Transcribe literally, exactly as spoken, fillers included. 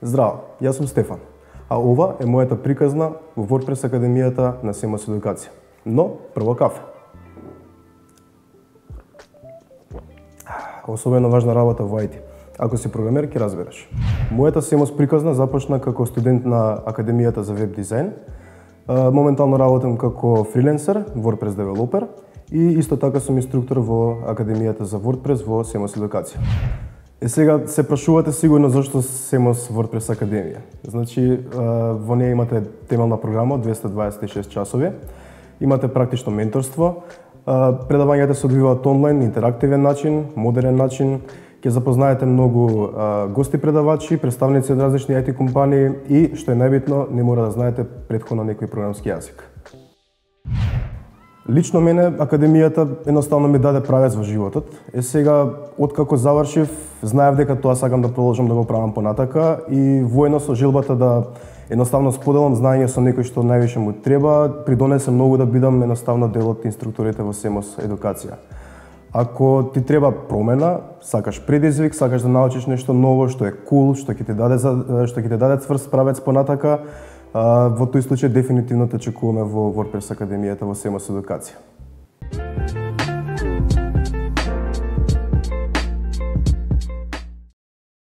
Здраво, јас сум Стефан, а ова е мојата приказна во WordPress Академијата на Семос Едукација. Но, прво кафе. Особено важна работа во ай ти. Ако си програмер, ќе разбереш. Мојата Семос приказна започна како студент на Академијата за веб дизајн. Моментално работам како фриленсер, WordPress девелопер и исто така сум инструктор во Академијата за WordPress во Семос Едукација. Е сега се прашувате сигурно зашто Семос WordPress Академија. Значи, во неја имате темелна програма од двесте дваесет и шест часови, имате практично менторство, предавањата се одвиваат онлайн, интерактивен начин, модерен начин, ќе запознаете многу гости предавачи, представници од различни ай ти компании и, што е најбитно, не мора да знаете претходно некој програмски јазик. Лично мене Академијата едноставно ми даде правец во животот. Е сега, откако завршив, знаев дека тоа сакам да продолжам да го правам понатака и воедно со желбата да едноставно споделам знаење со некој што највише му треба, придонесе многу да бидам едноставно дел од инструкторите во Семос Едукација. Ако ти треба промена, сакаш предизвик, сакаш да научиш нешто ново што е кул, што ќе ти даде што ќе ти даде цврст правец понатака, во тој случај дефинитивно те очекуваме во WordPress Академијата во Семос Едукација.